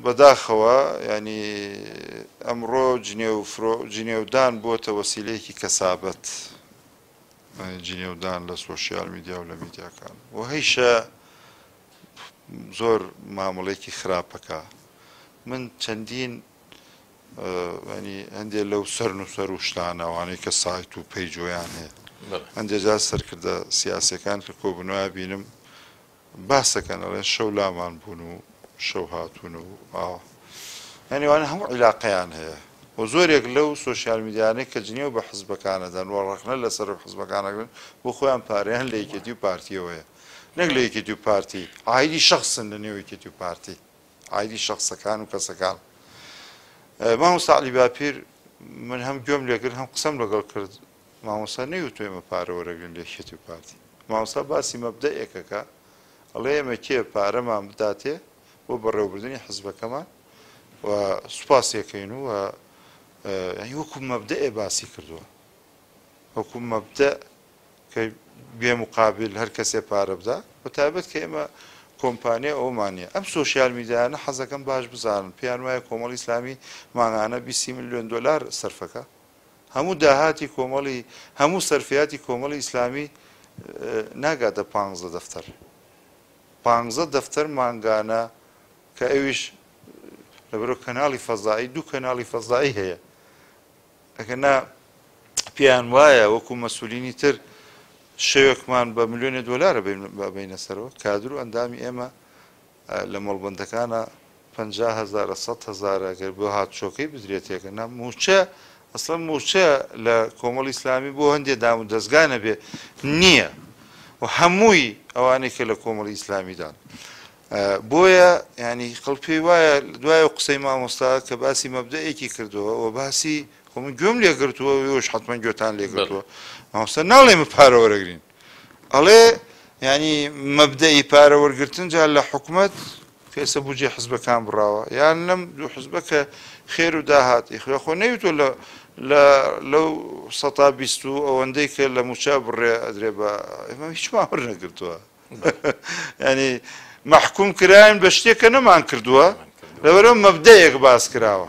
بەداخەوە ینی ئەمڕۆ جنێو فرۆ جنێودان بۆتە وەسیلەیەکی کەسابەت، جنێودان لە سۆشیال میدیا و لە میدیاکان و هەیشە زۆر مامەڵێکی خراپەکە. من چەندین ینی هەندێک لەو سەرنووسەر و شتانە ئەوانەی کە سایت و پەیجۆیان هەیە، هەندێک جار سەرکردە سیاسیەکان کە کۆبوونەوە بینم باسەکەن ئەڵێن شەو لامان بوون و شەو هاتوون و ئاوا، یعنی وانە هەموو عیلاقەیان هەیە و زۆرێک لەو سۆشیال میدیانەی کە جنێو بە حزبەکانەدەن و ڕەخنە لەسەر حزبەکانەگرن بۆ خۆیان پارەیان لە یەکێتی و پارتیەوەیە، نەک لە یەکێتی و پارتی، عایدی شەخسن لە نێو یەکێتی و پارتی، عایدی شەخسەکان و کەسەکان. مامۆستا عەلی باپیر من هەم گوێم لێکرد هەم قسەم لەگەڵ کرد، مامۆستا نەیوتووە ئێمە پارە وەرەگرین لە یەکێتی و پارتی. مامۆستا باسی مەبدەئێکەکە، ئەڵێ ئێمە کێ پارەمان بداتێ بۆ بەڕێوەبردنی حزبەکەمان و سوپاسیەکەین و یعنی وەکو مەبدەئێ باسی کردووە، وەکو مەبدەئ کە بێ مقابل هەر کەسێ پارە بدا، بە تایبەت کە ئێمە کۆمپانیا ئەومان نییە. ئەم سۆشیال میدیانە حەزەکەم باش بزانن پێیان وایە کۆمەڵی ئیسلامی مانگانە 20 ملیۆن دۆلار سەرفەکە، هەموو داهاتی کۆمەڵی هەموو سەرفیاتی کۆمەڵی ئیسلامی ناگاتە 15 دەفتەر، 15 دەفتەر مانگانە، کە ئەویش لەبەرەوە کەناڵی فەزایی، دوو کەناڵی فەزایی هەیە. ئەگەر نا پێیان وایە وەکو مەسئولینی تر شەوێکمان بە ملیۆنێ دۆلارە بینە سەرەوە. کادر و ئەندامی ئێمە لە مەڵبەندەکانە 50,000 100,000 ئەگەر بۆ هاتوچۆکەی بدرێتێکە نا موچە، ئەسڵەن موچە لە کۆمەڵی ئیسلامی بۆ هەندێک دام و دەستگا نەبێ نییە و هەمووی ئەوانەی کە لە کۆمەڵی ئیسلامیدان. بۆیە ینی خەڵک پێی وایە دوای ئەو قسەی مامۆستا کە باسی مەبدەئێکی کردووە و باسی خۆ من گوێم لێگرتووە ئێوەش حتمما گوێتان لێگرتووە، مامۆستا ناڵێ ئێمە پارە وەرەگرین، ئەڵێ ینی مەبدەئی پارە وەرگرتن جا لە حکومەت کە ئێستا بودجەی حزبەکان بڕاوە یان لەم دوو حزبە کە خێر و داهات ئیخوێ خۆ نەیوتووە لە لەو 20% و ئەوەندەی کە لە موچە بڕێ ئەدرێ بە ئێمە هیچمان وەرنەگرتووە. ینی مەحکوم کراین بە شتێک کە نەمان کردووە، لەبەرەوە مەبدەیەک باس کراوە.